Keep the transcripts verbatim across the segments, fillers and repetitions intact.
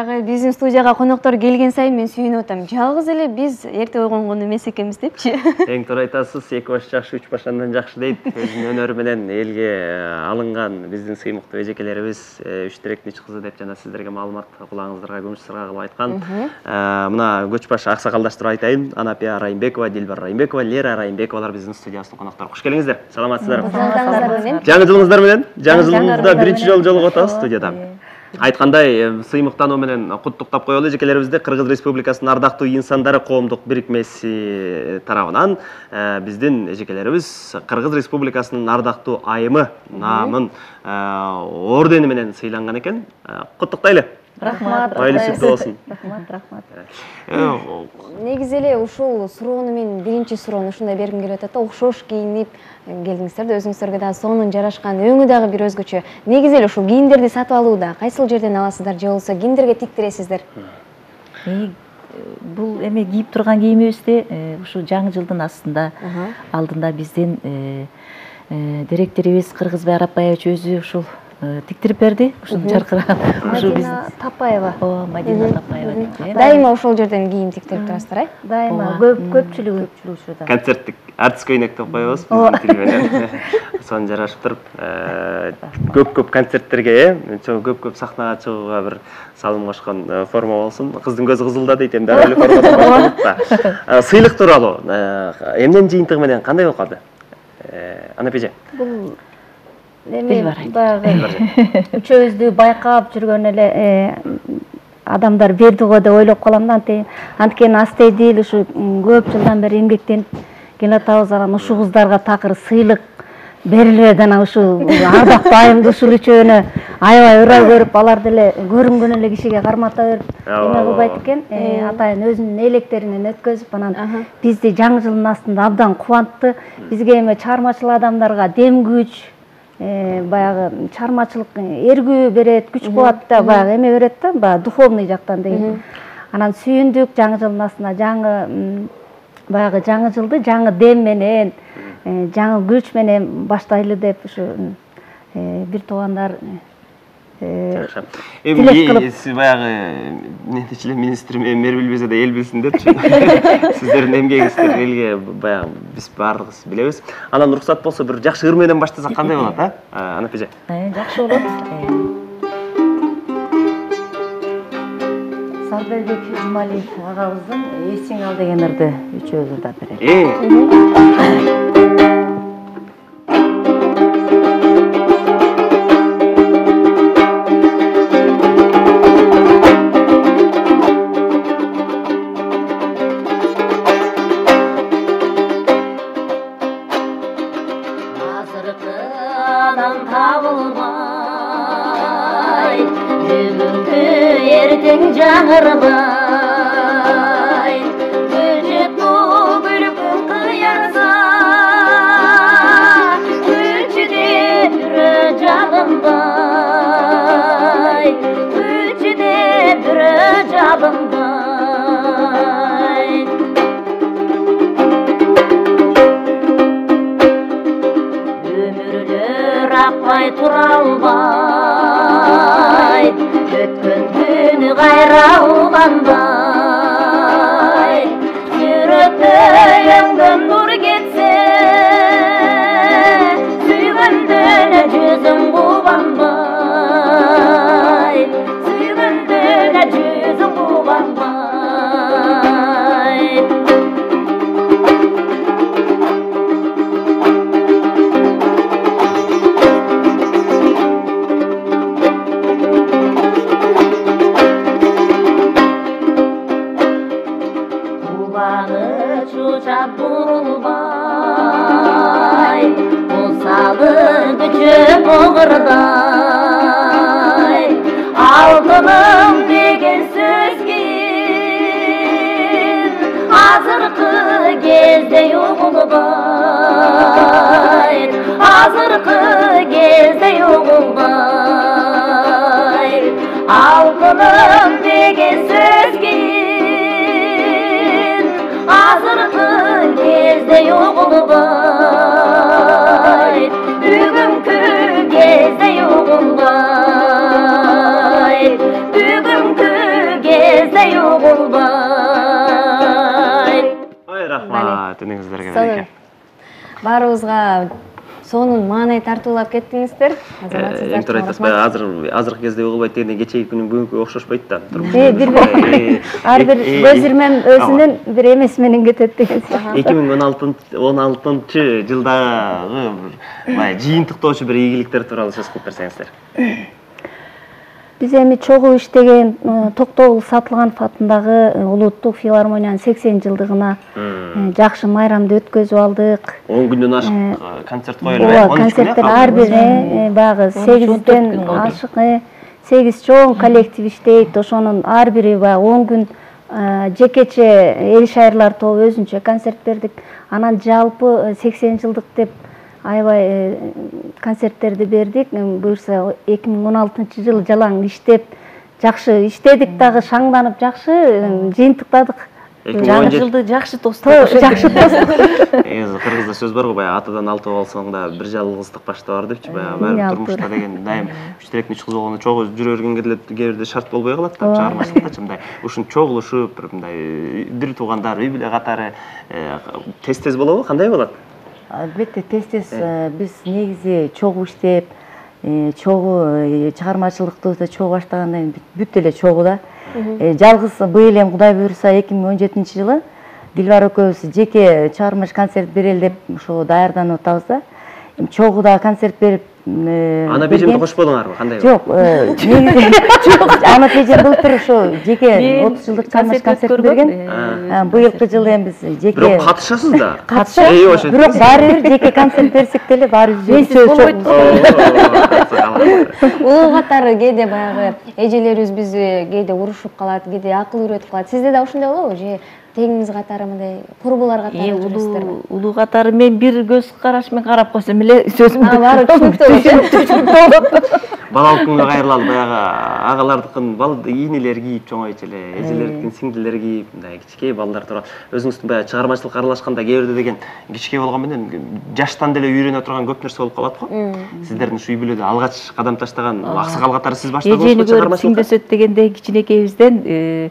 баягы биздин студияга коноктор келген сайын мен сүйүнүп атам. Жалгыз эле биз эрте ойгонгон эмес экенбиз депчи. Эң туура айтасыз, эки баш жакшы, үч баш андан жакшы дейт. Өзүнүн өнөрү менен элге алынган биздин сыймыктуу эжекелерибиз үч тиректин үч кызы деп жана сиздерге маалымат кулагыңыздарга күмүш сырга кылып айткан. Мына көч баш аксакалдаштырып айтайын. Анапия Райымбекова, Дилбар Райымбекова, Лера Райымбековалар биздин студиябыздын коноктору. Куш келиңиздер. Саламатсыздарбы? Жаңы жылыңыздар менен. Жаңы жылыңызда биринчи жолу жолугуп атабыз студияда. Айткандай, сыймыктануу менен куттуктап коелу эжекелерибизди. Кыргыз Республикасынын ардактуу инсандары коомдук бирикмеси тарабынан биздин эжекелерибиз Кыргыз Республикасынын ардактуу айымы наамын ордени менен сыйланган экен. Куттуктайлы. Рахмат. Айлы сүттүү болсун. Рахмат, рахмат. Негизи эле ушул суроону мен биринчи суроону ушундай бергим келип атат да, окшош кийинип келдиңиздер да, өзүңүздөргө дагы сонун жарашкан, өңү дагы бир өзгөчө. Негизи эле ушул кийимдерди сатып алууда кайсыл жерден аласыздар же болбосо кимдерге тиктиресиздер? Бул эме кийип турган кийимибизди ушу жаңы жылдын астында алдында биздин директорубуз Кыргызбай Арапбаевич өзү ушул тиктирип берди. Ушул жаркыраган ушу биз Тапаева. О, Мадина Тапаева. Дайыма ошол жерден кийим тиктирип турасыздар, э? Дайыма көпчүлүгү ушуда. Концерттик артист көйнөк деп коебуз биздин тил менен. Сонун жарашып туруп, көп-көп концерттерге, э, көп-көп сахнага чыгууга бир салым кошкон форма болсун. Кыздын көзү кызылда дейт, эми дагы эле форма да. Сыйлык тууралуу эмненин жыйынтыгы менен кандай болуп калды? Анапеже. Бул эми баягы үчөөбүздү байкап жүргөн эле адамдар берди го деп ойлоп калам да. Анткени астейдил ушу көп жылдан бери эмгектенип келатабыз. Анан ушул кыздарга такыр сыйлык берилбеди. Анан ушул ардактуу айымды ушул үчөөнө аябай ыраа көрүп, алар деле көрүнгөн эле кишиге кармата берип эме кылбайт экен. Атайын өзүнүн электеринен өткөзүп, анан бизди жаңы жылдын астында абдан кубантты. Бизге эме чыгармачыл адамдарга дем күч, баягы чыгармачылык эргүү берет, күч кубат да, баягы эме берет да, баягы духовный жактан деген. Анан сүйүндүк жаңы жылдын астында жаңы баягы жаңы жылды жаңы дем менен, жаңы күч менен баштайлы деп ушу бир туугандар жакшы. Эми сиз баягы нетичиле министрим мэр билбесе да эл билсин депчи. Сиздердин эмгегиңиздер элге баягы биз баардыгыбыз билебиз. Анан уруксат болсо бир жакшы ыр менен баштасак кандай болот, а? Анапеже. Жакшы болот. Сарбелбек Жумалиев агабыздын эсиң ал деген ырды үчөөбүз ырдап берели. Жаңырбай, күлчет бул күлкүн кыярса, күлчүдө бүрө жабынбай, күлчүдө бүрө жабынбай. Өмүрлөр акпай тура албай, өткөн күнү кайра уланбай, жүрөктөй өңгөн нур кетсе, сүйгөндөн жүзүң кубанбай, сүйгөндөн жүзүң кубанбай. Бурулбай, болсалы күчө боғырдай, алтыным деген сөз кийин азыркы кезде угулбай, азыркы кезде угулбай, алтыным деген сөз кийин азыркы кезде угулбай, бүгүнкү кезде угулбай, бүгүнкү рахмат үнүңүздөргө береке. Баарыбызга сонун маанай тартуулап кеттиңиздер. Эмтер айтасыз, баягы азыр азыркы кезде угулбайт дегенде кечеги күнүн бүгүнкүгө окшошпойт да. Э, бир ар бир көз ирмем өзүнүн бир эмес менен кетет деген сыяктуу. эки миң он алтынчы жылдагы баягы жыйынтыктоочу бир ийгиликтер тууралуу сөз кылып берсеңиздер. Биз эми чогуу иштеген Токтогул Сатылганов атындагы улуттук филармониянын сексен жылдыгына жакшы майрамды өткөзүп алдык. он күндөн ашык концерт коюлду. Ооба, концерттер ар бир баягы сегизден ашык сегиз чоң коллектив иштейт. Ошонун ар бири баягы он күн жекече эл шайырлар тобу өзүнчө концерт бердик. Анан жалпы сексен жылдык деп аябай концерттерди бердик. Буюрса эки миң он алтынчы жылы жалаң иштеп, жакшы иштедик дагы, шаңданып жакшы жыйынтыктадык. Жаңы жылды жакшы тостук. Жакшы тостук. Эми кыргызда сөз бар го, баягы атадан алты болсоң да бир жалгыздык башта бар депчи, баягы баары турмушта деген дайым үч тиректин үч кыз болгондо чогуу жүрө бергенге деле кээ бирде шарт болбой калат да, чыгармачылыкта мындай ушун чогулушуп, бир мындай бир туугандар, үй бүлө катары тез-тез болобу, кандай болот? Албетте тез-тез биз негизи чогуу иштеп, чогуу чыгармачылыкты чогуу баштагандан кийин бүт эле чогуу да. Жалгыз быйыл эми Кудай буйруса эки миң он жетинчи жылы Дилбар экөөбүз жеке чыгармачы концерт берели деп ошо даярданып атабыз да. Чогуу концерт берип ана бежемди кошподуңарбы, кандай? Жок, негизи жок. Ана бежем былтыр ошо жеке отуз жылдык чыгармачы концерт берген. Быйылкы жылы эми биз жеке Бирок катышасыз да. Катышабыз. Бирок баары бир жеке концерт берсек деле баары сөз болбойт. Улуу катары кээде баягы эжелерибиз бизди кээде урушуп калат, кээде акыл үйрөтүп калат. Сизде да ошондой болобу? Же теңиңиз катары мындай курбулар катары жүрөсүздөрбү? Улуу катары мен бир көз караш менен карап койсом эле сөзүмдү баары түшүнүктүү болот. Балалык күнгө кайрылалы, баягы агалардыкын ийнелер кийип чоңойчу эле, эжелердикин сиңдилер кийип, мындай кичинекей балдар тууралуу өзүңүздүн баягы чыгармачылыкка аралашканда кээ бирде деген кичинекей болгон менен жаштан деле үйрөнө турган көп нерсе болуп калат го. Сиздердин ушу үй бүлөдө алгач кадам таштаган аксакал катары сиз баштадыңызбы чыгармачылыкка? Сиңдөсөт дегенде кичинекейибизден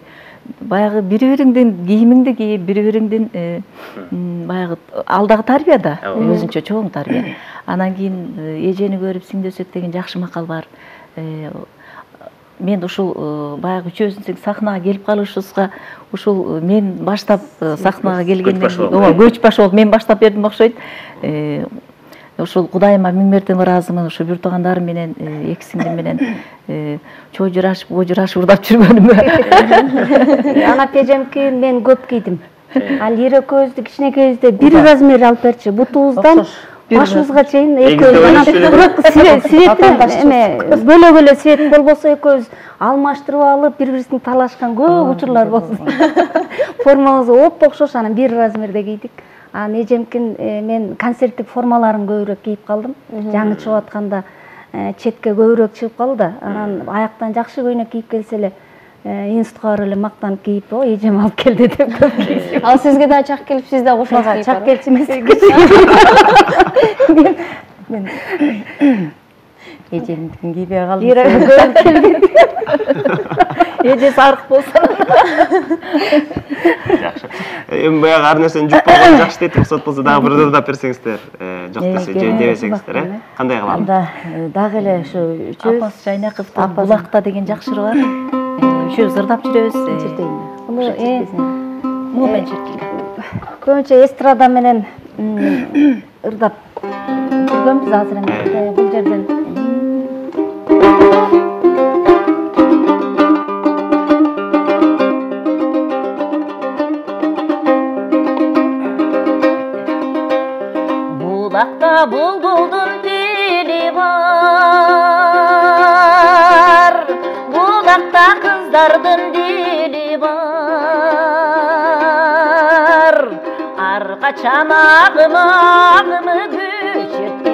баягы бири-бириңдин кийимиңди кийип, бири-бириңдин баягы алдагы тарбия да, өзүнчө чоң тарбия. Анан кийин эжени көрүп сиңдөсөт деген жакшы макал бар. Мен ушул баягы үчөөбүздүн сахнага келип калышыбызга ушул мен баштап сахнага келгенден кийин, ооба, көч баш болуп мен баштап бердим окшойт. Ушул Кудайыма миң мерте ыраазымын, ушу бир туугандарым менен, эки сиңдим менен чой журашып, ой журашып урдап жүргөнүмө. Ана пежемки мен көп кийдим. Ал ире көздү кичинекейибизде бир размер алып берчи. Бутубуздан башыбызга чейин экөөбүз. Бирок светин эме бөлө-бөлө свет болбосо экөөбүз алмаштырып алып, бири-бирибиздин талашкан көп учурлар болду. Формабыз оп окшош, анан бир размерде кийдик. Анан эжемкин мен концерттик формаларын көбүрөөк кийип калдым. Жаңы чыгып атканда четке көбүрөөк чыгып калды. Анан аяктан жакшы көйнөк кийип келсе эле институтка барып эле мактанып кийип, о, эжем алып келди деп көп кийип. Ал сизге да чак келип, сиз да кошулуп кийип. Чак келчү эмес. Мен эжемдикин кийбей калдым. Эжеси арык болсо. Жакшы. Эми баягы ар нерсени жуп болгон жакшы дейт, рухсат болсо дагы бир ырдап берсеңиздер, жок десе же дебесеңиздер, э? Кандай кылалы? Анда дагы эле ушу үчөөбүз Апас Жайнаковдун Булакта деген жакшыры бар. Үчөөбүз ырдап жүрөбүз. Муну э муну мен чиркейм. Көбүнчө эстрада менен ырдап жүргөнбүз азыр эми бул жерден. Булакта булбулдун тили бар, булакта кыздардын дили бар. Ар качан агымы агымы көчөрткен,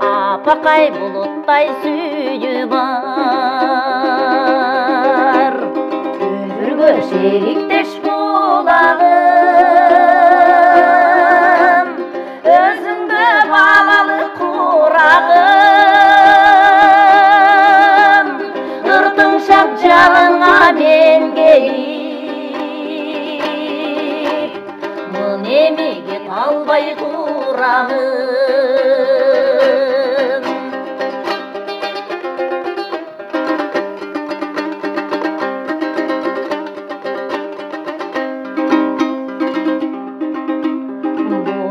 апакай булуттай сүйүү бар. Өмүргө шериктеш булагым, өзүңдө балалы курагым. Ыртың шап жалыңа мен келип, турамын.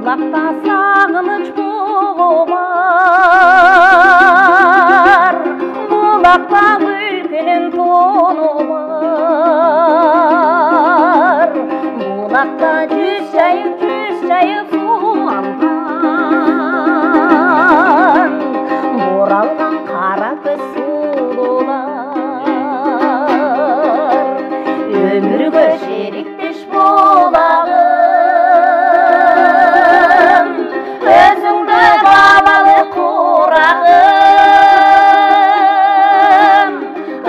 Булакта сагыныч бугу бар, булакта өлкөнүн тону бар, булакта жүз жайып жүз жайып сууланган, буралган кара көз сулуулар, өмүргө шериктеш болагын, өзүңдө балалы курагым,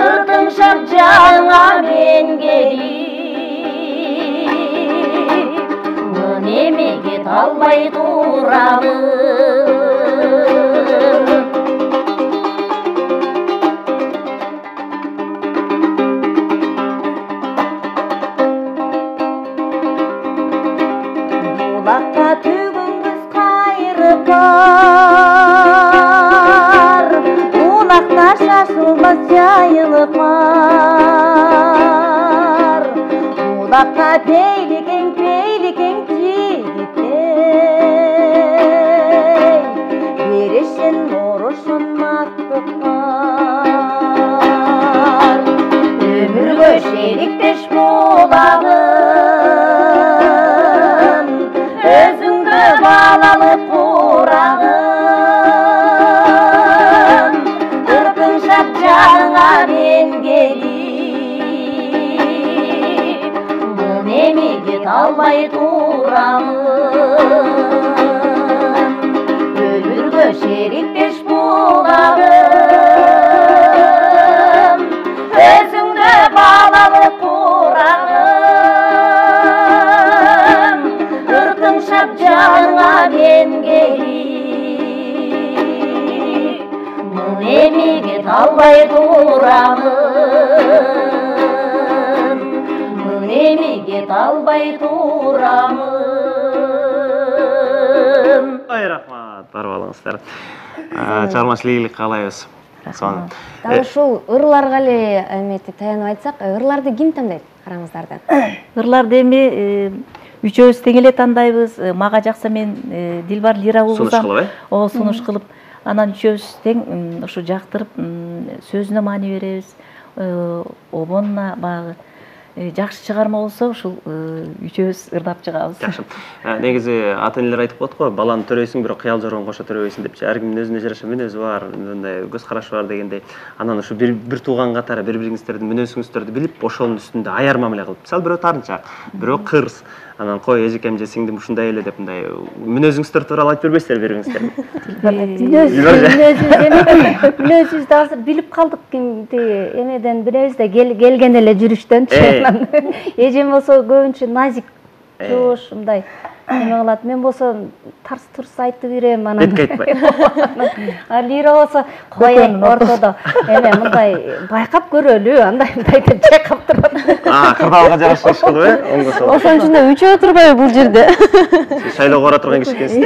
ыртың шап жаңа мен келип, мын эмеге талбай турамын. Булакта түгүнгүз кайрып бар, булакта шашылмас жайылык бар, булакта бейликең бейликең жигиттей, беришин орушун мактык бар, өмүргө шериктеш болагын, өзүңдө балалы курагым, ыркың шап жаңа мен келип, мын эмеге талбай турамын. Өмүргө шериктеш болагым, өзүңдө балалы курагым, ыркың шап жаңа мен келип, мын эмеге талбай турамын, мын эмеге талбай турамын. Ой, рахмат, барып алыңыздар. Чыгармачылык ийгилик каалайбыз. Дал ушул ырларга эле эмети таянып айтсак, ырларды ким тандайт караңыздардан? Ырларды эми үчөөбүз тең эле тандайбыз. Мага жакса мен Дилбар Лира угузам. О, сунуш кылып, анан үчөөбүз тең ушу жактырып, сөзүнө маани беребиз. Обонуна багы жакшы чыгарма болсо, ушул үчөөбүз ырдап чыгабыз. Жакшы. Негизи ата энелер айтып коет го, баланы төрөйсүң, бирок кыял жоргон кошо төрөбөйсүн депчи. Ар кимдин өзүнө жараша мүнөзү бар, мындай көз карашы бар дегендей. Анан ушу бир бир тууган катары бири-бириңиздердин мүнөзүңүздөрдү билип, ошонун үстүндө аяр мамиле кылып. Мисалы бирөө таарынчаак, бирөө кырс. Анан кой эжекем же сиңдим ушундай эле деп мындай мүнөзүңүздөр тууралуу айтып бербейсиздер бири-бириңизге. Мүнөзүбүздү азыр билип калдык, эмеден биребиз да келген эле жүрүштөн. Эжем болсо көбүнчө назик, жош, мындай эме кылат. Мен болсо тарс-турс айтып берем, анан. Бетке айтпай. А Лира болсо коен ортодо эме мындай байкап көрөлү, андай мындай деп чайкап турат. А, кырдаалга жараша иш кылып, э? Оңго солго. Ошон үчүн да үчөө турбайбы бул жерде? Шайлоого бара турган киши экенсиз.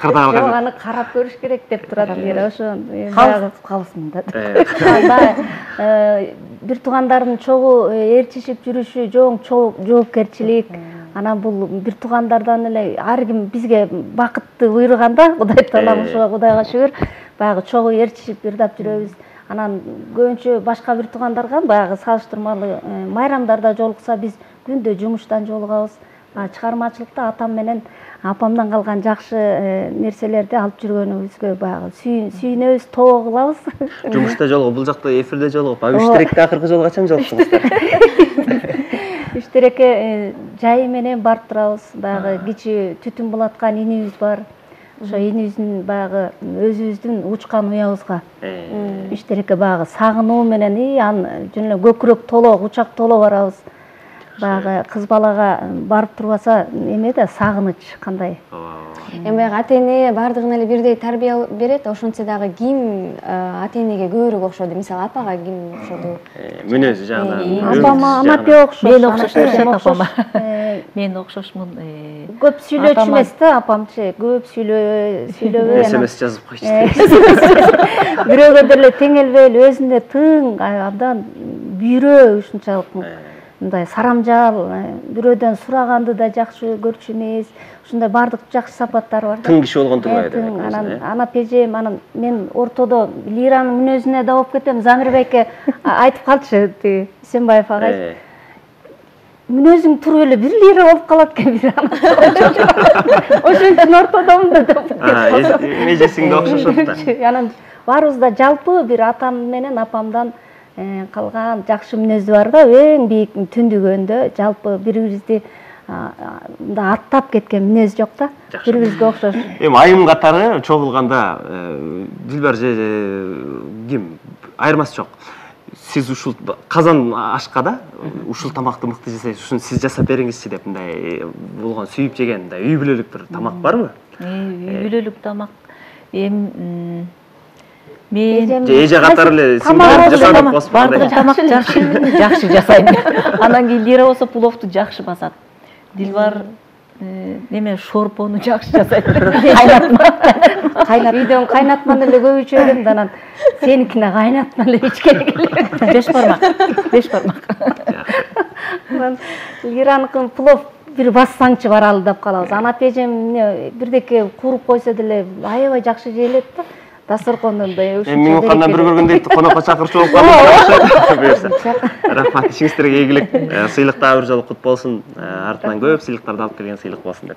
Кырдаалга. Жок, аны карап көрүш керек деп турат Лира. Ошо Калыс калсын да. Анда бир туугандардын чогуу ээрчишип жүрүшү жоң жоопкерчилик. Анан бул бир туугандардан эле ар ким бизге бакытты буйруганда, Кудай таалам ошого Кудайга шүгүр, баягы чогуу ээрчишип ырдап жүрөбүз. Анан көбүнчө башка бир туугандарга баягы салыштырмалуу майрамдарда жолукса биз күндө жумуштан жолугабыз. Чыгармачылыкта атам менен апамдан калган жакшы нерселерди алып жүргөнүбүзгө баягы сүйүнөбүз, тоо кылабыз. Жумушта жолугуп, бул жакта эфирде жолугуп, а Үштеректе акыркы жолу качан жолуктуңуздар? Үштерекке жайы менен барып турабыз. Баягы кичи түтүн булаткан инибиз бар. Ошо инибиздин баягы өзүбүздүн учкан уябызга Үштерекке баягы сагынуу менен аны жөн эле көкүрөк толо, учак толо барабыз. Баягы кыз балага барып турбаса эме да сагыныч кандай. Эми баягы ата эне бардыгына эле бирдей тарбия берет, ошентсе дагы ким ата энеге көбүрөөк окшоду? Мисалы апага ким окшоду? Мүнөзү жагынан. Апама, ама бек окшош. Мен окшош апама. мен окшошмун. Көп сүйлөчү эмес да, апамчы. Көп сүйлөбөй, сүйлөбөй. смс жазып койчу. Бирөөгө деле теңелбей, өзүнө тың, абдан бүйрөө ушунчалык мындай сарамжал, бирөөдөн сураганды да жакшы көрчү эмес. Ушундай бардык жакшы сапаттары бар да. Тың киши болгон турбайбы деп. Анан ана пежем, анан мен ортодо Лиранын мүнөзүнө да болуп кетем. Замир байке айтып калчы, тиги Исенбаев агай. Мүнөзүң туруп эле бир лира болуп калат экен бир ана. Ошон үчүн ортодомун да деп. Межесиң да окшошот да. Анан баарыбыз да жалпы бир атам менен апамдан калган жакшы мүнөзү бар да, эң бийик түндүгөндө жалпы бири-бирибизди мындай аттап кеткен мүнөз жок да. Бири-бирибизге окшош. Эми айым катары чогулганда Дилбар же ким айырмасы жок. Сиз ушул казан ашка да ушул тамакты мыкты жасайсыз, ушуну сиз жасап бериңизчи деп мындай болгон сүйүп жеген мындай үй бүлөлүк бир тамак барбы? Үй бүлөлүк тамак эми мен эже катары эле сиңдирип жасап косуп бардык тамак жакшы жакшы жасайм. Анан кийин Лира болсо пловду жакшы басат. Дилбар неме шорпону жакшы жасайт. Кайнатма. Кайнат үйдөн кайнатманы эле көп ичем, анан сеникине кайнатма эле ичкен эле. Беш бармак. Беш бармак. Анан Лираныкын плов бир бассаңчы баралы деп калабыз. Ана пежем бирдеке куруп койсо деле аябай жакшы жейлет да. Дасторкондон да ушунча. Эми мейманканадан бир көргөндө конокко чакырчу болуп калдым. Рахмат, ишиңиздерге ийгилик. Сыйлык дагы бир жолу кут болсун. Артынан көп сыйлыктарды алып келген сыйлык болсун деп.